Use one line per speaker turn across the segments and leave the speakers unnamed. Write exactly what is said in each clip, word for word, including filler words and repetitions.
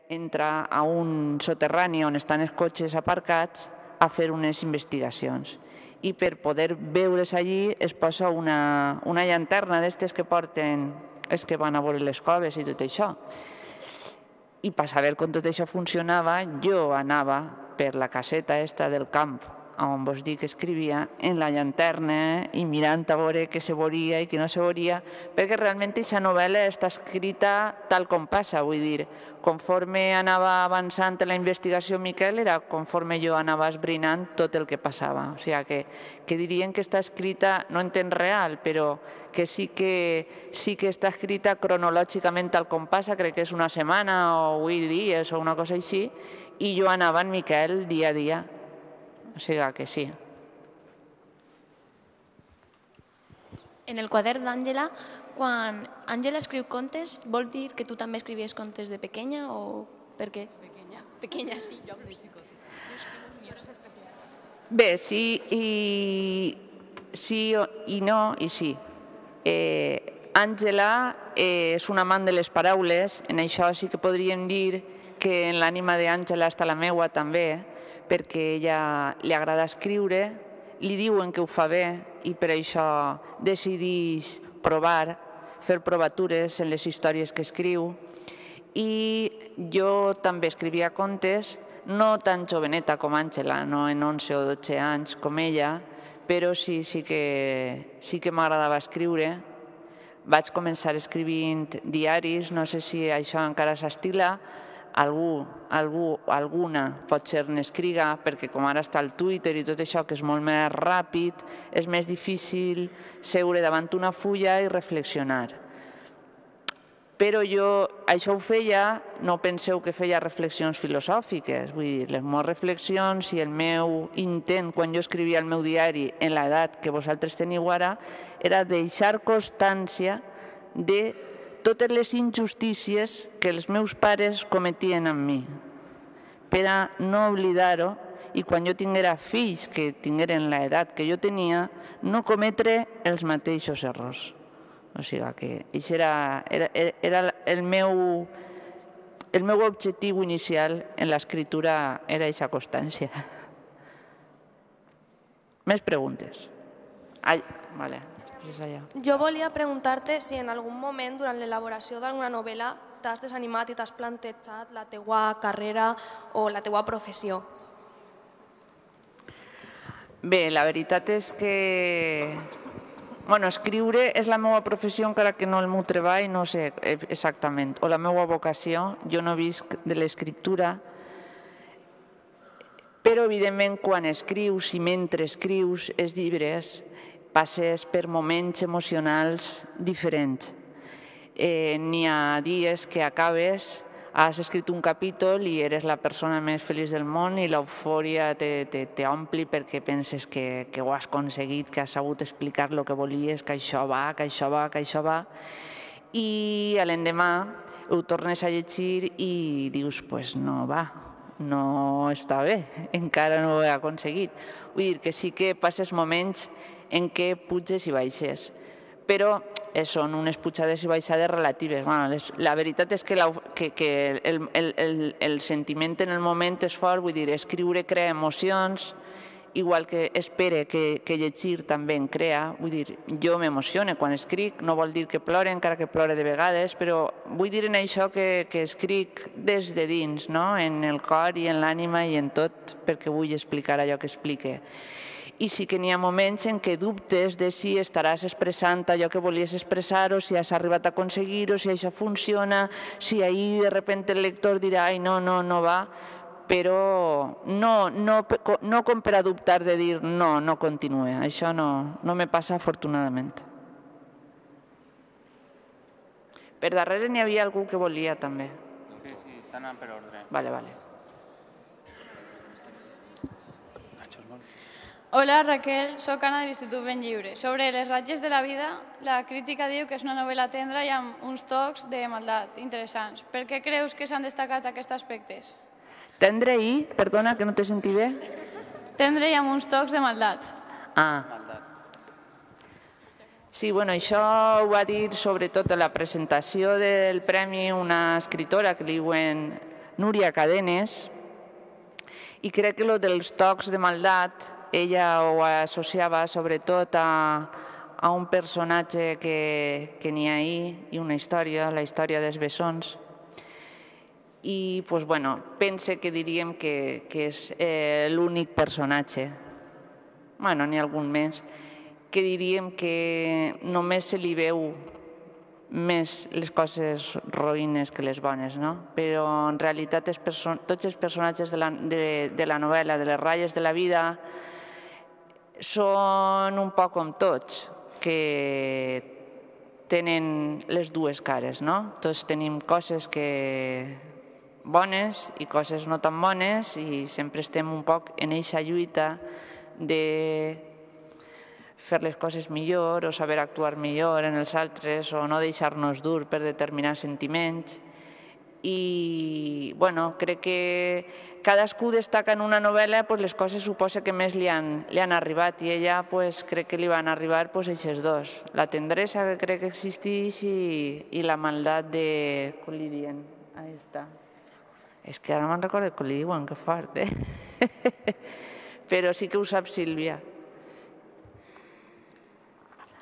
entra a un soterrani on estan els cotxes aparcats a fer unes investigacions. I per poder veure's allí es posa una, una llanterna d'estes que porten els que van a veure les coves i tot això. I per saber com tot això funcionava, jo anava per la caseta esta del camp, on vos dic que escrivia, en la llanterna i mirant a veure què se veuria i què no se veuria, perquè realment aquesta novel·la està escrita tal com passa, vull dir, conforme anava avançant en la investigació Miquel, era conforme jo anava esbrinant tot el que passava. O sigui que, que dirien que està escrita, no en temps real, però que sí que, sí que està escrita cronològicament tal com passa, crec que és una setmana o vuit dies o una cosa així, i jo anava en Miquel dia a dia. O sigui que sí.
En el quadern d'Àngela, quan Àngela escriu contes, vol dir que tu també escrivies contes de pequeña o per què?
Pequeña.
Pequeña, sí.
Jo de xicot.
Bé, sí i, sí i no i sí. Eh, Àngela eh, és un amant de les paraules, en això sí que podríem dir que en l'ànima d'Àngela està la meua també, perquè ella li agrada escriure, li diuen que ho fa bé i per això decideix provar, fer provatures en les històries que escriu. I jo també escrivia contes, no tan joveneta com Àngela, no en onze o dotze anys com ella, però sí, sí que, sí que m'agradava escriure. Vaig començar escrivint diaris, no sé si això encara s'estila, algú, algú, alguna potser n'escriga, perquè com ara està el Twitter i tot això, que és molt més ràpid, és més difícil seure davant una fulla i reflexionar. Però jo això ho feia, no penseu que feia reflexions filosòfiques, vull dir, les meves reflexions i el meu intent quan jo escrivia el meu diari en l'edat que vosaltres teniu ara, era deixar constància de totes les injustícies que els meus pares cometien amb mi, per a no oblidar-ho i quan jo tinguera fills que tingueren l'edat que jo tenia, no cometre els mateixos errors. O sigui que això era, era, era el, meu, el meu objectiu inicial en l'escriptura, era aquesta constància. Més preguntes? Ai, vale.
Jo volia preguntar-te si en algun moment durant l'elaboració d'alguna novel·la t'has desanimat i t'has plantejat la teua carrera o la teua professió.
Bé, la veritat és que bueno, escriure és la meva professió encara que no el meu treball, no sé exactament, o la meva vocació. Jo no visc de l'escriptura, però evidentment quan escrius i mentre escrius els llibres passes per moments emocionals diferents. Eh, N'hi ha dies que acabes, has escrit un capítol i eres la persona més feliç del món i l'eufòria t'ompli perquè penses que, que ho has aconseguit, que has sabut explicar el que volies, que això va, que això va, que això va. I l'endemà ho tornes a llegir i dius, pues no va, no està bé, encara no ho he aconseguit. Vull dir que sí que passes moments en què puges i baixes, però són unes pujades i baixades relatives. La veritat és que el sentiment en el moment és fort, vull dir, escriure crea emocions, igual que espere que llegir també en crea. Vull dir, jo m'emocione quan escric, no vol dir que plore, encara que plore de vegades, però vull dir en això que escric des de dins, en el cor i en l'ànima i en tot, perquè vull explicar allò que explique. I sí que n'hi ha moments en què dubtes de si estaràs expressant allò que volies expressar o si has arribat a aconseguir-ho, si això funciona, si ahir de sobte el lector dirà ai, no, no, no va, però no com per a dubtar de dir no, no continue. Això no me passa afortunadament. Per darrere n'hi havia algú que volia també.
Sí, sí, està anant per ordre.
Vale, vale.
Hola Raquel, soc Anna de l'Institut Ben Lliure. Sobre les ratges de la vida, la crítica diu que és una novel·la tendra i amb uns tocs de maldat interessants. Per què creus que s'han destacat aquests aspectes?
Tendre i, perdona, que no t'he sentit bé.
Tendre i amb uns tocs de maldat.
Ah. Sí, bueno, això ho va dir sobretot a la presentació del premi una escritora que li diuen Núria Cadenes, i crec que el dels tocs de maldat ella ho associava sobretot a, a un personatge que, que n'hi ha ahí i una història, la història dels bessons. I pues, bueno, pense que diríem que, que és eh, l'únic personatge, bueno, n'hi ha algun més, que diríem que només se li veu més les coses roïnes que les bones, no? Però en realitat els tots els personatges de la, de, de la novel·la, de les ratlles de la vida, són un poc com tots, que tenen les dues cares, no? Tots tenim coses que bones i coses no tan bones i sempre estem un poc en eixa lluita de fer les coses millor o saber actuar millor en els altres o no deixar-nos dur per determinats sentiments. I, bueno, crec que cadascú destaca en una novel·la pues, les coses suposa que més li han, li han arribat i ella pues, crec que li van arribar pues, aquests dos. La tendresa que crec que existeix i, i la maldat de... Com li diuen? Ahí està. És que ara me'n recordo com li diuen, que fort, eh? Però sí que ho sap Sílvia.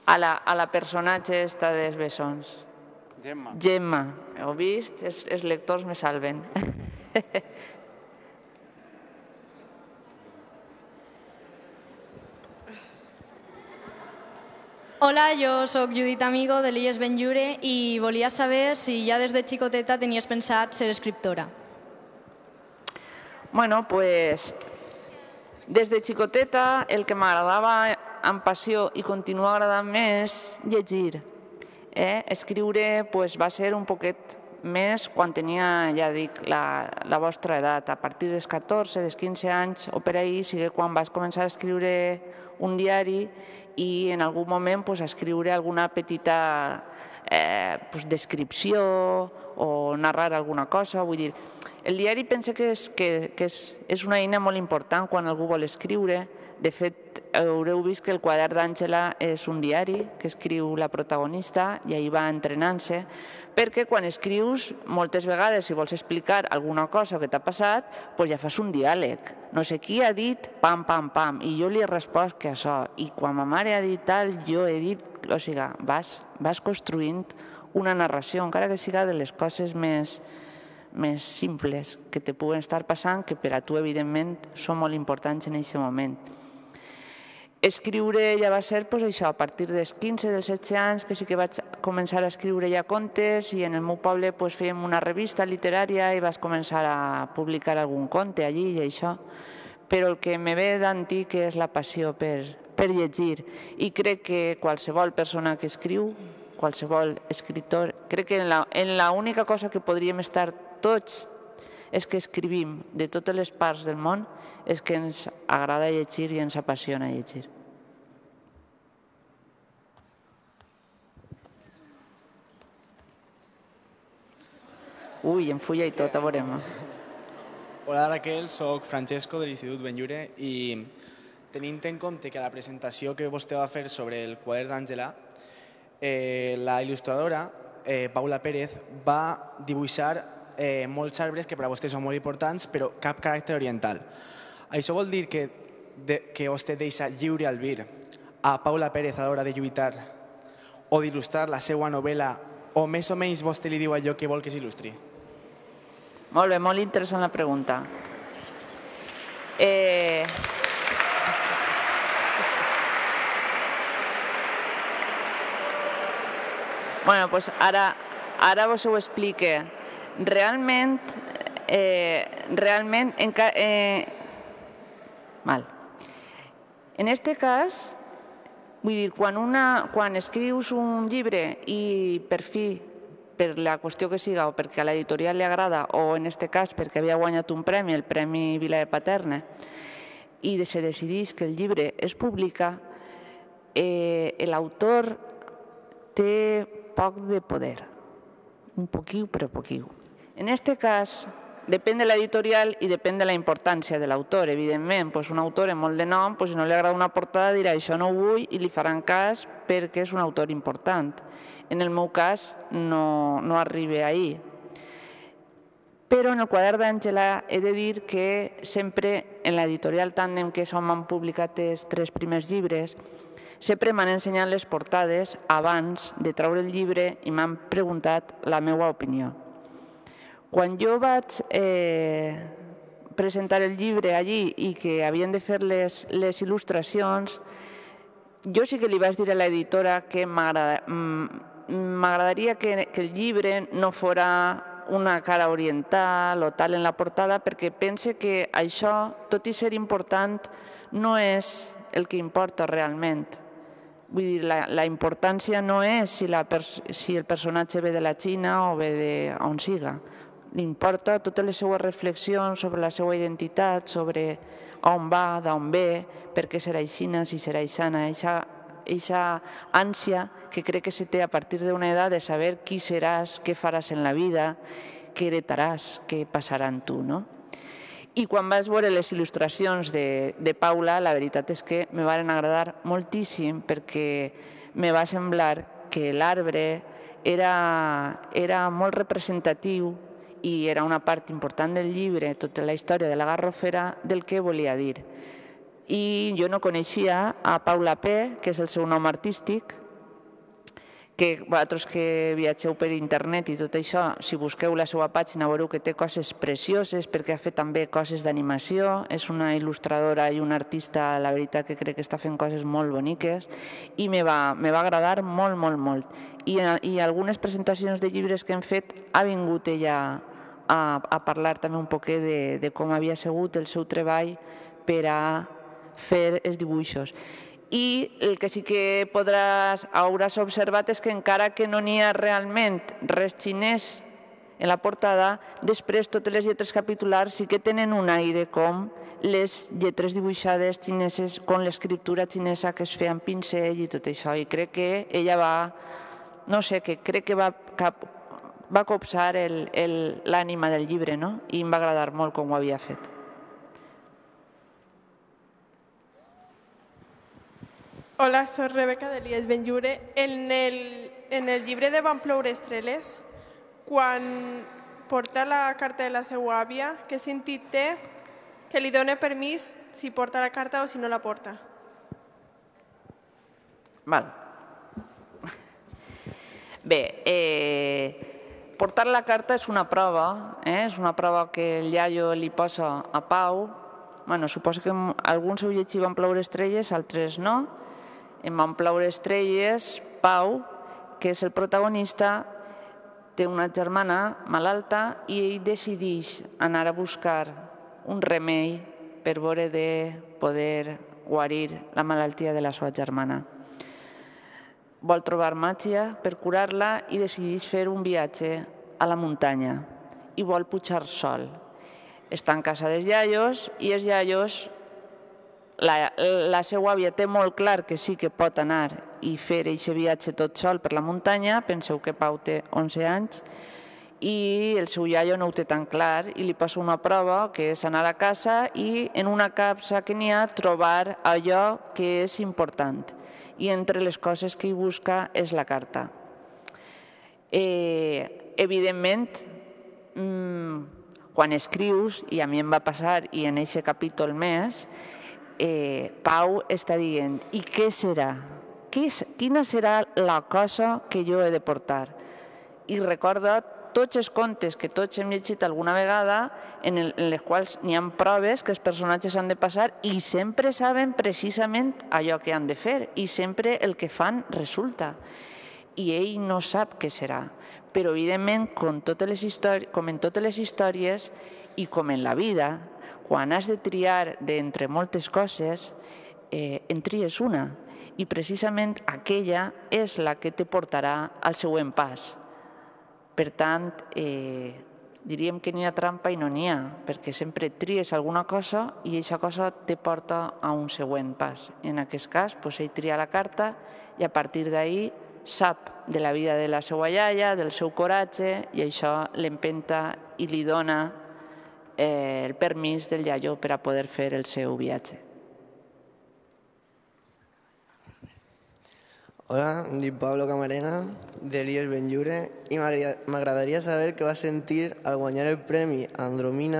A la, a la personatge esta dels bessons.
Gemma.
Gemma. Heu vist? Els, els lectors me salven.
Hola, jo sóc Judit Amigo de l'I E S Benlliure i volia saber si ja des de xicoteta tenies pensat ser escriptora.
Bueno, pues des de xicoteta el que m'agradava amb passió i continua agradant més llegir. Eh? Escriure pues, va ser un poquet més quan tenia, ja dic, la, la vostra edat. A partir dels catorze, dels quinze anys o per ahir, sigui quan vas començar a escriure un diari i en algun moment pues, a escriure alguna petita eh, pues, descripció o narrar alguna cosa. Vull dir, el diari penso que, és, que, que és, és una eina molt important quan algú vol escriure. De fet, haureu vist que el quadern d'Àngela és un diari que escriu la protagonista i ahir va entrenant-se, perquè quan escrius, moltes vegades, si vols explicar alguna cosa que t'ha passat, doncs ja fas un diàleg. No sé qui ha dit pam, pam, pam, i jo li he respost que això. I quan ma mare ha dit tal, jo he dit... O sigui, vas, vas construint una narració, encara que siga de les coses més, més simples que te puguen estar passant, que per a tu, evidentment, són molt importants en aquest moment. Escriure ja va ser pues, això, a partir dels quinze, dels setze anys, que sí que vaig començar a escriure ja contes i en el meu poble pues, fèiem una revista literària i vaig començar a publicar algun conte allí i això. Però el que me ve d'antic és la passió per, per llegir i crec que qualsevol persona que escriu, qualsevol escriptor, crec que en la, en la única cosa que podríem estar tots és que escrivim de totes les parts del món, és que ens agrada llegir i ens apassiona llegir. Ui, em fulla i tot, a veurem.
Hola Raquel, soc Francesco de l'Institut Benlliure i tenint en compte que a la presentació que vostè va fer sobre el quadern d'Àngela, eh, la il·lustradora eh, Paula Pérez va dibuixar eh, molts arbres que per a vostè són molt importants, però cap caràcter oriental. Això vol dir que, de, que vostè deixa lliure albir a Paula Pérez a l'hora de lluitar o d'il·lustrar la seva novel·la, o més o menys vostè li diu allò que vol que s'il·lustri?
Molt bé, molt interessant la pregunta. Eh... Bueno, doncs ara, ara vos ho explique. Realment, eh, realment, en, eh, mal. En este cas, vull dir, quan, una, quan escrius un llibre i per fi, per la qüestió que siga, o perquè a l'editorial li agrada, o en este cas perquè havia guanyat un premi, el Premi Vila de Paterna, i se decideix que el llibre es publica, eh, l'autor té poc de poder, un poquiu, però poquiu. En aquest cas, depèn de l'editorial i depèn de la importància de l'autor. Evidentment, un autor amb molt de nom, si no li agrada una portada, dirà això no ho vull i li faran cas perquè és un autor important. En el meu cas, no, no arriba ahir. Però en el quadern d'Àngela he de dir que sempre en l'editorial Tàndem, que és on m'han publicat els tres primers llibres, sempre m'han ensenyat les portades abans de treure el llibre i m'han preguntat la meva opinió. Quan jo vaig eh, presentar el llibre allí i que havien de fer les, les il·lustracions, jo sí que li vaig dir a l'editora que m'agradaria que, que el llibre no fora una cara oriental o tal en la portada, perquè pense que això, tot i ser important, no és el que importa realment. Vull dir, la, la importància no és si, la si el personatge ve de la Xina o ve d'on siga. L'importa totes les seues reflexions sobre la seva identitat, sobre on va, d'on ve, per què serà aixina, si serà aixana, aquesta ànsia que crec que se té a partir d'una edat de saber qui seràs, què faràs en la vida, què heretaràs, què passarà en tu, no? I quan vaig veure les il·lustracions de, de Paula, la veritat és que me van agradar moltíssim perquè me va semblar que l'arbre era, era molt representatiu i era una part important del llibre, tota la història de la Garrofera, del que volia dir. I jo no coneixia a Paula P., que és el seu nom artístic, que vosaltres que viatgeu per internet i tot això, si busqueu la seva pàgina veureu que té coses precioses perquè ha fet també coses d'animació, és una il·lustradora i una artista, la veritat que crec que està fent coses molt boniques i me va, me va agradar molt, molt, molt. I, i algunes presentacions de llibres que hem fet ha vingut ella a, a parlar també un poquet de, de com havia sigut el seu treball per a fer els dibuixos. I el que sí que podràs, hauràs observat és que encara que no n'hi ha realment res xinès en la portada, després totes les lletres capitulars sí que tenen un aire com les lletres dibuixades xineses, com l'escriptura xinesa que es feia amb pincell i tot això. I crec que ella va, no sé, que crec que va, cap, va copsar l'ànima del llibre, no? I em va agradar molt com ho havia fet.
Hola, soy Rebeca de l'I E S Benlliure. En el, en el llibre de Van ploure estrelles, quan porta la carta de la seva àvia, què sentit té que li dona permís si porta la carta o si no la porta?
Val. Bé, eh, portar la carta és una prova, eh? És una prova que el iaio li posa a Pau. Bueno, suposo que alguns heu llegit Van ploure estrelles, altres no. En Van ploure estrelles, Pau, que és el protagonista, té una germana malalta i ell decideix anar a buscar un remei per veure de poder guarir la malaltia de la seva germana. Vol trobar màgia per curar-la i decideix fer un viatge a la muntanya i vol pujar sol. Està en casa dels iaios i els iaios, la, la seva àvia té molt clar que sí que pot anar i fer aquest viatge tot sol per la muntanya. Penseu que Pau té onze anys i el seu iaio no ho té tan clar i li posa una prova que és anar a casa i en una capsa que n'hi ha trobar allò que és important. I entre les coses que hi busca és la carta. Eh, evidentment, mmm, quan escrius, i a mi em va passar i en aquest capítol més, eh, Pau està dient, i què serà? Quina serà la cosa que jo he de portar? I recorda tots els contes que tots hem llegit alguna vegada en, el, en les quals n'hi ha proves que els personatges han de passar i sempre saben precisament allò que han de fer i sempre el que fan resulta. I ell no sap què serà. Però, evidentment, com, totes les històries, com en totes les històries i com en la vida, quan has de triar d'entre moltes coses, eh, en tries una. I precisament aquella és la que te portarà al següent pas. Per tant, eh, diríem que n'hi ha trampa i no n'hi ha, perquè sempre tries alguna cosa i aquesta cosa te porta a un següent pas. En aquest cas, doncs, ell tria la carta i a partir d'ahir sap de la vida de la seva iaia, del seu coratge, i això l'empenta i li dona eh, el permís del iaio per a poder fer el seu viatge.
Hola, em dic Pablo Camarena, de l'I E S Benlliure, i m'agradaria saber què va sentir al guanyar el Premi Andromina